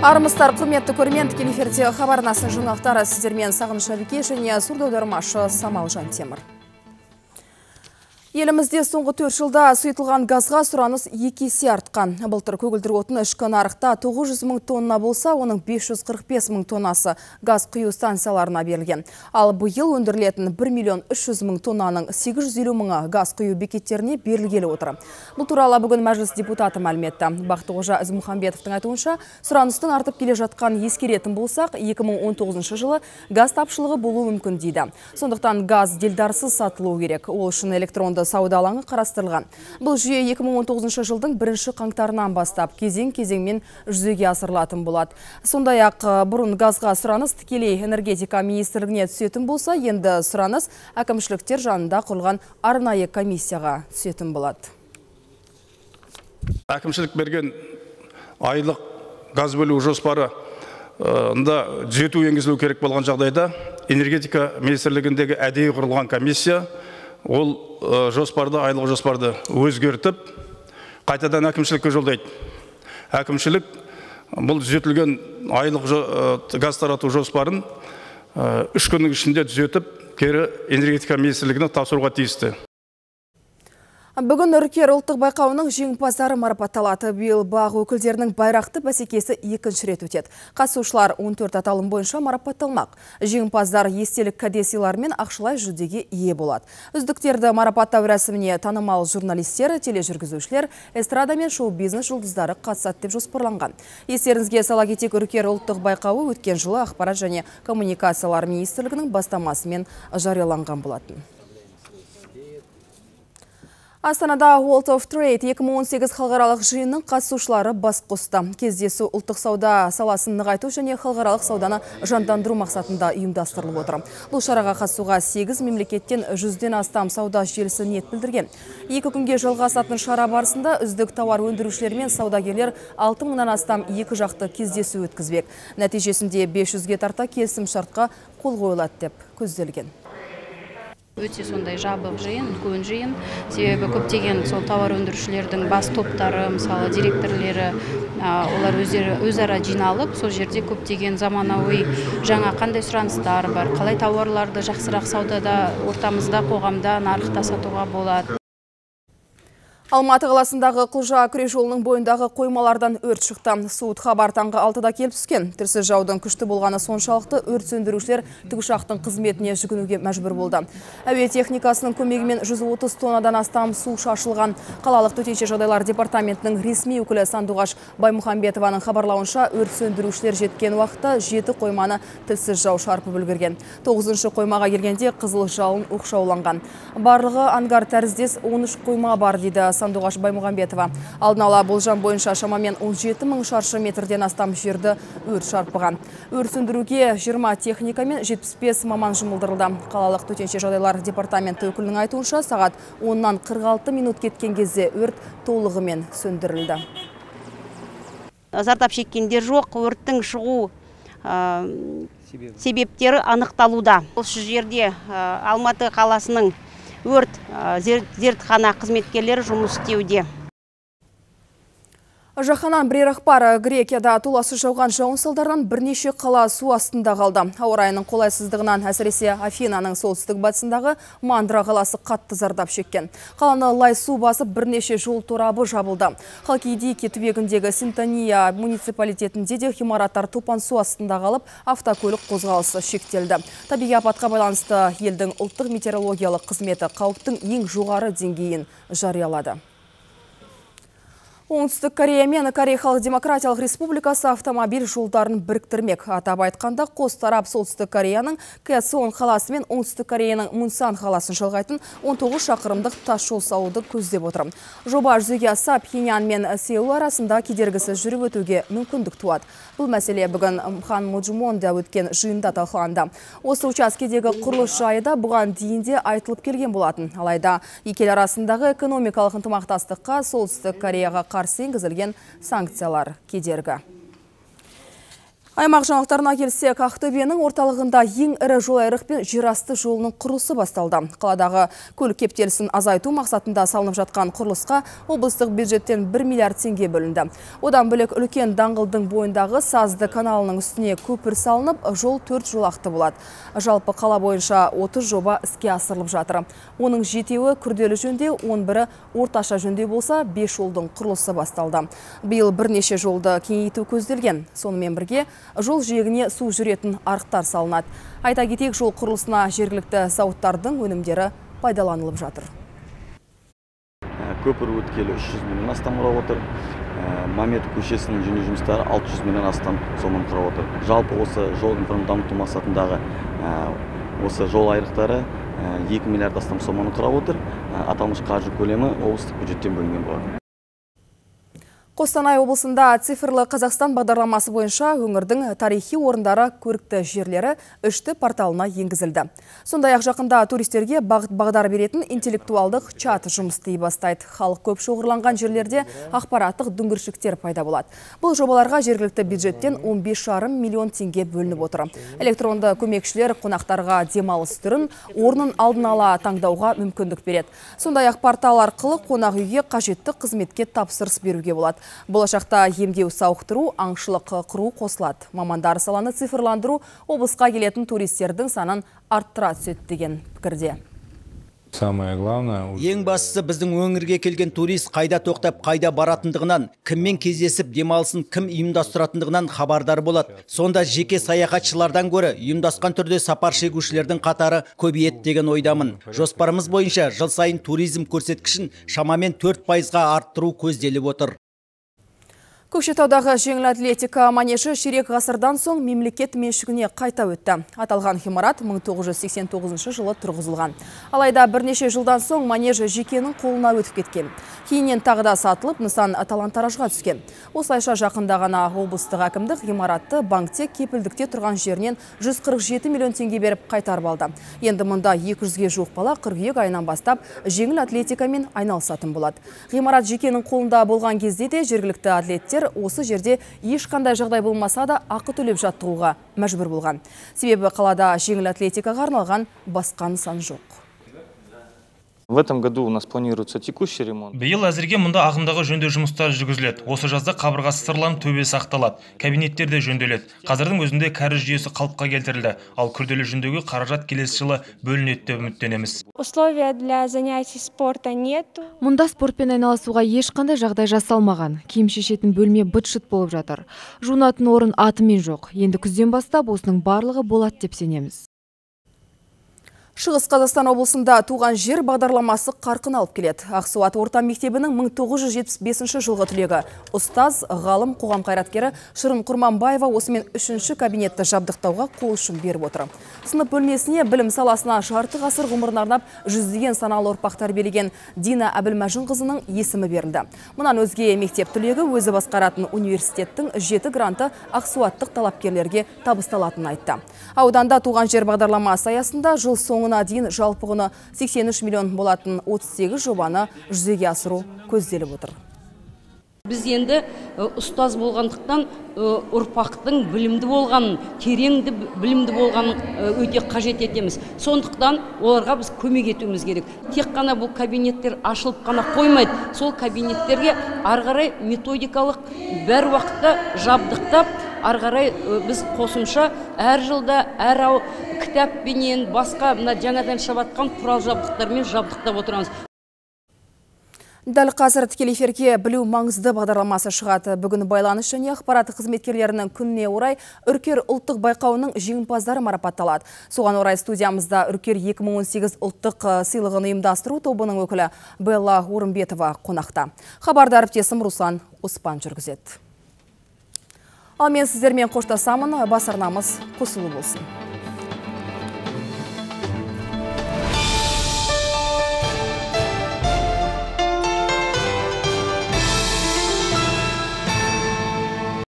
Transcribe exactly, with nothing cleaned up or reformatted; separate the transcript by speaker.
Speaker 1: Армыстар, құрметті көрермен, тікелей эфирде хабар арнасының жаңалықтары сіздермен Сағыныш Әбіке және сурдоаудармашы Самал Жантемір. Елімізде соңғы төрт жылда сұйытылған газға сұраныс екі есе артқан. Былтыр көгілдір отын ішкі нарықта тоғыз жүз мың тонна болса, оның бес жүз қырық бес мың тоннасы газ құю станцияларына берілген. Ал биыл өндірілетін бір миллион үш жүз мың тоннаның сегіз жүз елу мыңы газ құю бекеттеріне берілгелі отыр. Бұл туралы бүгін мәжіліс депутаты мәлім етті. Бақтықожа Ізмұхамбетовтың айтуынша, сұраныстың артып келе жатқан ескеретін болсақ, екі мың он тоғызыншы жылы газ тапшылығы болуы мүмкін дейді. Сондықтан газ делдарсыз сатылуы керек. Ол үшін электронды сауда алаңы қарастырылған. Бұл жүйе екі мың он тоғызыншы жылдың бірінші қаңтарынан бастап кезең-кезеңмен жүзеге асырылатын болады. Сондай-ақ бұрын газға сұраныс тікелей энергетика министрлігіне түсетін болса, енді сұраныс әкімшіліктер жанында құрылған арнайы комиссияға түсетін болады.
Speaker 2: Әкімшілік берген айлық газ бөлу жоспары ында түзету енгізілу керек болған жағдайда энергетика министрлігіндегі әдейі құрылған комиссия ол жоспарды, айлық жоспарды өзгертіп, қайтадан әкімшілікке жолдайды. Әкімшілік бұл түзетілген айлық газ тарату жоспарын үш күннің ішінде түзетіп, кері энергетика министрлігіне тапсыруға тиісті.
Speaker 1: Бүгін Үркер ұлттық байқауының жеңімпаздары марапатталады. Биыл бақ өкілдерінің байрақты бәсекесі екінші рет өтеді. Қатысушылар он төрт аталым бойынша марапатталмақ. Жеңімпаздар естелік кәдесыйлар мен ақшалай жүлдеге ие болады. Үздіктерді марапаттау рәсіміне танымал журналистер, тележүргізушілер, эстрада мен шоу-бизнес жұлдыздары қатысады деп жоспарланған. Естеріңізге сала кетейік, Үркер ұлттық байқауы өткен жылы ақпарат және коммуникациялар министрлігінің бастамасымен жарияланған болатын. Астанада World of Trade екі мың он сегіз халықаралық жиынның қатысушылары бас қосты. Кездесу ұлттық сауда саласын нығайту және халықаралық сауданы жандандыру мақсатында ұйымдастырылып отыр. Бұл шараға қатысуға сегіз мемлекеттен жүзден астам сауда желісі ниет білдірген. Екі күнге жалғасатын шара барысында үздік тауар өндірушілер мен саудагерлер алты мыңнан астам екі жақты кездесу өткізбек. Нәтижесінде бес жүзге тарта келісім шартқа қол қойылады деп көзделген.
Speaker 3: Өте сондай жабық жиын, үлкен жиын. Себебі көптеген сол тауар өндірушілердің бас топтары, мысалы директорлері, олар өздері өзара жиналып, сол жерде көптеген заманауи жаңа қандай сұраныстар бар, қалай тауарларды жақсырақ саудада, ортамызда, қоғамда, нарықта сатуға болады.
Speaker 1: Алматы қаласындағы Құлжа күре жолының бойындағы қоймалардан өрт шықты. Суыт хабар таңғы алтыда келіп түскен. Тілсіз жаудың күшті болғаны соншалықты өрт сөндірушілер тікұшақтың қызметіне жүгінуге мәжбүр болды. Әуе техникасының көмегімен жүз отыз тоннадан астам су шашылған. Қалалық төтенше жағдайлар департаментінің ресми өкілі Сандуғаш Баймұхамбетованың хабарлауынша, өрт сөндірушілер жеткен уақытта жеті қойманы тілсіз жау шарпып үлгерген. тоғызыншы қоймаға келгенде қызыл жалын оқшауланған. Барлығы ангар тәріздес он үш қойма бар дейді Сандуғаш Баймұхамбетова. Алдын ала болжам бойынша шамамен он жеті мың шаршы метрден астам жерді өрт шарпыған. Өрт сөндіруге жиырма техника мен жетпіс бес маман жұмылдырылды. Қалалық төтенше жағдайлар департаменті өкілінің айтуынша, сағат оннан қырық алты минут кеткен кезде өрт толығымен сөндірілді.
Speaker 4: Зардап шеккендер жоқ, өрттің шығу себептері анықталуда. Осы жерде Алматы қаласының өрт зертхана қызметкерлері жұмыс істеуде.
Speaker 1: Жаһаннан бірер ақпар. Грекияда толассыз жауған жауын салдарынан бірнеше қала су астында қалды. Ауа райының қолайсыздығынан әсіресе Афинаның солтүстік батысындағы Мандра қаласы қатты зардап шеккен. Қаланы лай су басып, бірнеше жол торабы жабылды. Халкидики түбегіндегі Синтония муниципалитетінде де ғимараттар топан су астында қалып, автокөлік қозғалысы шектелді. Табиғи апатқа байланысты елдің ұлттық метеорологиялық қызметі қауіптің ең жоғары деңгейін жариялады. Оңтүстік Корея мен Корей Халық Демократиялық Республикасы автомобиль жолдарын біріктірмек. Атап айтқанда, қос тарап Солтүстік Кореяның Кэсон қаласы мен Оңтүстік Кореяның Мунсан қаласын жалғайтын он тоғыз шақырымдық тас жол салуды көздеп отыр. Жоба жүзеге асса, Пхеньян мен Сеул арасында кедергісіз жүріп өтуге мүмкіндік туады. Бұл мәселе бүгін Пханмуджмонда өткен жиында талқыланды. Осы учаскедегі құрылыс жайы да бұған дейін де айтылып келген болатын. Алайда екі ел арасындағы экономикалық ынтымақтастыққа Солтүстік Кореяға қарсы енгізілген санкциялар кедергі. Аймақ жаңалықтарына келсек, Ақтөбенің орталығында ең ірі жолайрық пен жерасты жолының құрылысы басталды. Қаладағы көлік кептелісін азайту мақсатында салынып жатқан құрылысқа облыстық бюджеттен бір миллиард теңге бөлінді. Одан бөлек үлкен даңғылдың бойындағы Сазды каналының үстіне көпір салынып, жол төрт жолақты болады. Жалпы қала бойынша отыз жоба іске асырылып жатыр. Оның жетеуі күрделі жөндеу, он бірі орташа жөндеу болса, бес жолдың құрылысы басталды. Биыл бірнеше жолды кеңейту көзделген. Сонымен бірге жол жиегіне су жүретін арықтар салынады. Айта кетейік, жол құрылысына жергілікті зауыттардың өнімдері пайдаланылып жатыр.
Speaker 5: Көпір өткелі үш жүз миллион астам құрап отыр. Мамет көшесінің жөндеу жұмыстары алты жүз миллион астам соманы құрап отыр. Жалпы осы жол инфрақұрылымын дамыту мақсатындағы осы жол айрықтары екі миллиард астам соманы құрап отыр. Аталмыш қаржы көлемі облыстық бюджеттен бөлінген болады.
Speaker 1: Қостанай облысында цифрлы Қазақстан бағдарламасы бойынша өңірдің тарихи орындары, көрікті жерлері үшті порталына енгізілді. Сондай-ақ жақында туристерге бағыт-бағдар беретін интеллектуалдық чат жұмыс істей бастайды. Халық көп шоғырланған жерлерде ақпараттық дүңгіршіктер пайда болады. Бұл жобаларға жергілікті бюджеттен он бес жарым миллион теңге бөлініп отыр. Электронды көмекшілер қонақтарға демалыс түрін, орнын алдын ала таңдауға мүмкіндік береді. Сондай-ақ портал арқылы қонақ үйге қажетті қызметке тапсырыс беруге болады. Болашақта емдеу сауықтыру, аңшылық құру қосылады. Мамандар саланы цифрландыру облысқа келетін туристердің санын арттыра түседі деген пікірде.
Speaker 6: Самое главное...
Speaker 7: Ең бастысы біздің өңірге келген турист қайда тоқтап, қайда баратындығынан, кіммен кездесіп, демалысын кім ұйымдастыратындығынан хабардар болады. Сонда жеке саяхатшылардан гөрі ұйымдасқан түрде сапар шегушілердің қатары көбейеді деген ойдамын. Жоспарымыз бойынша жыл сайын туризм көрсеткішін шамамен төрт пайызға арттыру көзделіп отыр.
Speaker 1: Көкшетаудағы жеңіл атлетика манежі ширек ғасырдан соң мемлекет меншігіне қайта өтті. Аталған ғимарат мың тоғыз жүз сексен тоғызыншы жылы тұрғызылған. Алайда бірнеше жылдан соң манежі жекенің қолына өтіп кеткен. Кейіннен тағы да сатылып, нысан талан-таражға түскен. Осылайша жақында ғана облыстық әкімдік ғимаратты банкте кепілдікте тұрған жерінен жүз қырық жеті миллион теңге беріп қайтарып алды. Енді мұнда екі жүзге жуық бала қыркүйек айынан бастап жеңіл атлетикамен айналысатын болады. Ғимарат жекенің қолында болған кезде де жергілікті атлеттер осы жерде ешқандай жағдай болмаса да ақы төлеп жаттығуға мәжбүр болған. Себебі қалада жеңіл атлетикаға арналған басқа нысан жоқ.
Speaker 8: В этом году у нас планируется текущий ремонт.
Speaker 9: Биыл әзірге мұнда ағымдағы жөндеу жұмыстары жүргізіледі. Осы жазда қабырғасы сырланып, төбесі ақталады. Кабинеттер де жөнделеді. Қазірдің өзінде кәріз жүйесі қалыпқа келтірілді. Ал күрделі жөндеуге қаражат келесі жылы бөлінеді деп үміттенеміз.
Speaker 10: Условия для занятий спорта нету.
Speaker 11: Мұнда спортпен айналысуға ешқандай жағдай жасалмаған. Киім шешетін бөлме быт-шыт болып жатыр. Жуынатын орын атымен жоқ. Енді күзден бастап осының барлығы болады деп сенеміз.
Speaker 1: Шығыс Қазақстан облысында туған жер бағдарламасы қарқын алып келеді. Ақсуат орта мектебінің мың тоғыз жүз жетпіс бесінші жылғы түлегі ұстаз, ғалым, қоғам қайраткері Шырын Құрманбаева осымен үшінші кабинетті жабдықтауға қол ұшын беріп отыр. Сынып бөлмесіне білім саласына жарты ғасыр ғұмырын арнап жүздеген саналы ұрпақтар берген Дина Әбілмәжінқызының есімі берілді. Мұнан өзге мектеп түлегі өзі басқаратын университеттің жеті гранты ақсуаттық талапкерлерге табысталатынын айтты. Ауданда туған жер бағдарламасы аясында жыл соңына дейін жалпы құны сексен үш миллион болатын отыз сегіз жобаны жүзеге асыру көзделіп отыр.
Speaker 12: Біз енді ұстаз болғандықтан ұрпақтың білімді болғанын, тереңді білімді болғанын өте қажет етеміз. Сондықтан оларға біз көмек етуіміз керек. Тек қана бұл кабинеттер ашылып қана қоймайды. Сол кабинеттерге арғарай методикалық бәр уақытта жабдықтап, арғарай біз қосымша әр жылда әр ау кітаппенен басқа жаңадан шабатқан құрал жабдықтармен жабдықтап отырамыз.
Speaker 1: Дәл қазір тікелей эфирге білу маңызды бағдарламасы шығады. Бүгін байланыс және ақпарат қызметкерлерінің күніне орай Үркер ұлттық байқауының жеңімпаздары марапатталады. Соған орай студиямызда Үркер екі мың он сегіз ұлттық сыйлығын ұйымдастыру тобының өкілі Белла Орынбетова қонақта. Хабарды әріптесім Руслан Оспан жүргізеді. Ал мен сіздермен қоштасамын, бас арнамыз қосылу болсын.